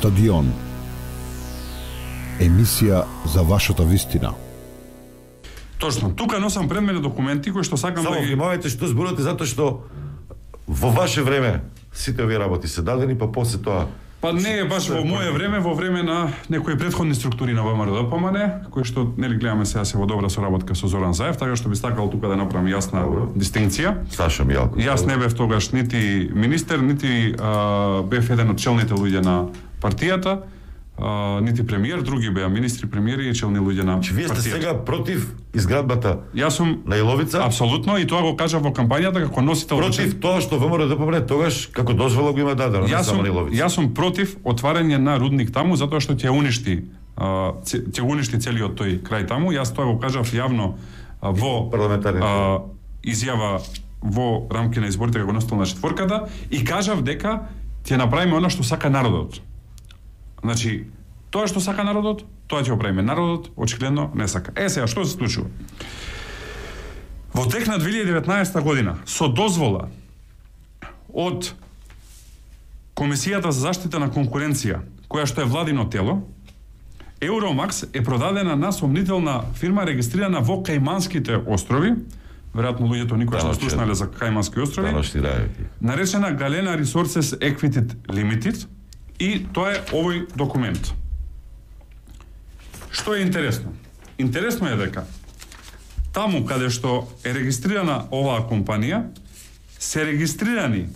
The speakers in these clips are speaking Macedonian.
Стадион. Емисија за вашата вистина. Точно, тука носам пред мене документи кои што сакам Само да ги... внимавајте што зборувате, затоа што во ваше време сите овие работи се дадени, па после тоа... Па не е баш во мое време, во време на некои претходни структури на ВМРО-ДПМН, кои што нели гледаме сега се во добра соработка со Зоран Заев, така што би сакал тука да направам јасна дистинкција. Саша Мијалков. Јас не бев тогаш нити министер, нити бев еден од челните луѓе на партијата, нити премиер, други беа министри, премиери и челни луѓе на партијата. Вие сте сега против изградбата Јас сум на Иловица? Апсолутно, и тоа го кажав во кампањата како носител. Против тоа што ВМРО-ДПМН тогаш како дозвола го има дадено, не само на Иловица. Јас сум против отварање на рудник таму затоа што ќе уништи целиот тој крај таму. Јас тоа го кажав јавно во изјава во рамки на изборите како носител на четворката и кажав дека ќе направиме она што сака народот. Значи, тоа што сака народот, тоа ќе го правиме. Народот очигледно не сака. Сега што се случува? Во тек на 2019 година со дозвола од Комисијата за заштита на конкуренција, која што е владино тело, Евромакс е продадена на сомнителна фирма регистрирана во Кајманските острови. Веројатно луѓето никогаш не слушнале за Кајмански острови. Наречена Galena Resources Equity Limited. И тоа е овој документ. Што е интересно? Интересно е дека таму каде што е регистрирана оваа компанија, се регистрирани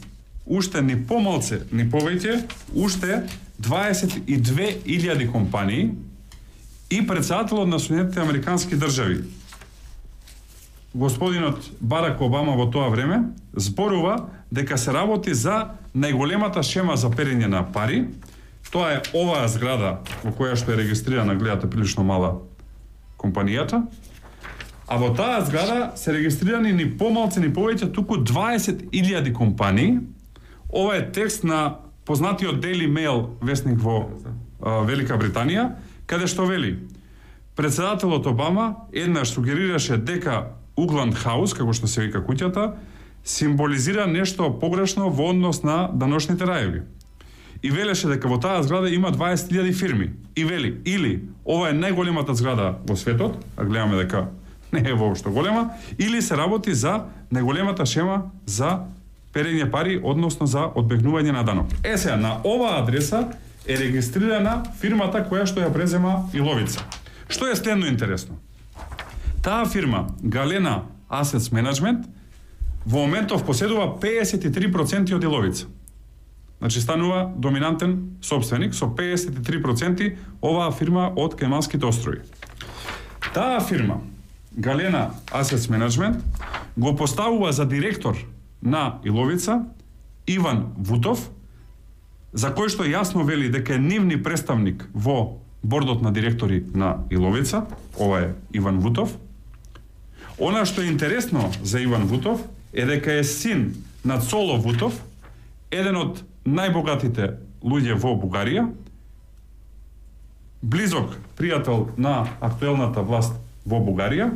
уште ни помалце, ни повеќе, уште 22.000 компании и претседателот на Соединетите Американски држави, господинот Барак Обама во тоа време, зборува дека се работи за најголемата шема за перење на пари. Тоа е оваа зграда во која што е регистрирана, гледате прилично мала компанијата. А во таа зграда се регистрирани ни помалце ни повеќе туку 20.000 компании. Ова е текст на познатиот Daily Mail весник во Велика Британија, каде што вели: председателот Обама еднаш сугерираше дека Угланд Хаус, како што се вика куќата, символизира нешто погрешно во однос на даношните рајеви. И велеше дека во таа зграда има 20.000 фирми. И вели, или ова е најголемата зграда во светот, а гледаме дека не е воопшто голема, или се работи за најголемата шема за перење пари, односно за одбегнување на данок. Сега, на оваа адреса е регистрирана фирмата која што ја презема Иловица. Што е следно интересно? Таа фирма, Galena Assets Management, во моментов поседува 53% од Иловица. Значи станува доминантен собственик со 53% оваа фирма од Кајманските острови. Таа фирма, Galena Assets Management, го поставува за директор на Иловица Иван Вутов, за кој што јасно вели дека е нивни представник во бордот на директори на Иловица. Ова е Иван Вутов. Она што е интересно за Иван Вутов е дека е син на Цоло Вутов, еден од најбогатите луѓе во Бугарија, близок пријател на актуелната власт во Бугарија,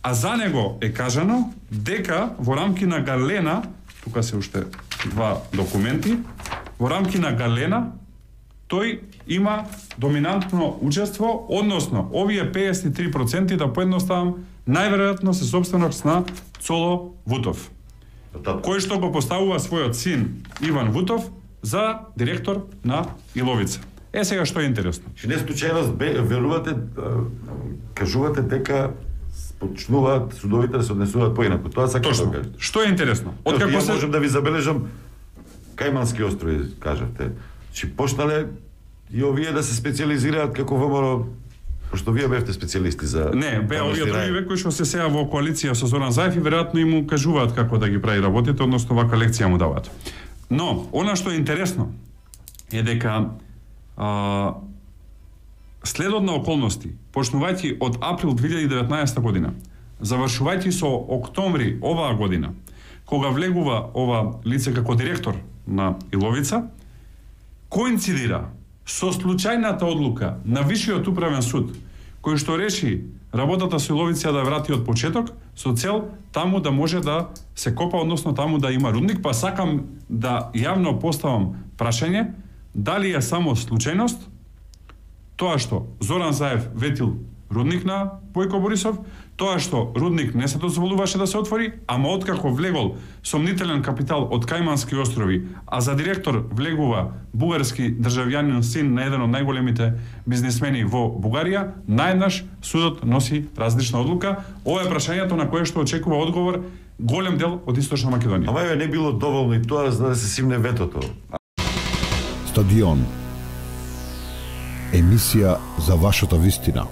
а за него е кажано дека во рамки на Galena, тука се уште два документи, во рамки на Galena тој има доминантно учество, односно овие 53% да поедноставам најверојатно се собственост на Цоло Вутов, кој што го поставува својот син Иван Вутов за директор на Иловица. Сега што е интересно. Не случајно верувате, кажувате дека почнуваат судовите да се однесуваат поинаку. Тоа сакам да кажам. Што е интересно? Откако се можам да ви забележам Кајмански острови, кажавте. Чи почнале и овие да се специализираат како ВМРО, пошто вие бевте специјалисти за... Не, беа овие други кои што се сега во коалиција со Зоран Заев и веројатно им му кажуваат како да ги прави работите, односно вака лекција му даваат. Но, она што е интересно е дека следот на околности, почнувајќи од април 2019 година, завршувајќи со октомври оваа година, кога влегува ова лице како директор на Иловица, коинцидира со случајната одлука на Висшиот управен суд, кој што реши работата со Иловица да врати од почеток, со цел таму да може да се копа, односно таму да има рудник, па сакам да јавно поставам прашање дали е само случајност тоа што Зоран Заев ветил рудник на Бојко Борисов, тоа што рудник не се дозволуваше да се отвори, ама откако влегол сомнителен капитал од Кајмански острови, а за директор влегува бугарски државјанин, син на еден од најголемите бизнисмени во Бугарија, наеднаш судот носи различна одлука. Ова е прашањето на кое што очекува одговор голем дел од Источна Македонија. Ама не било доволно и тоа за да се симне ветото. Стадион. Емисија за вашата вистина.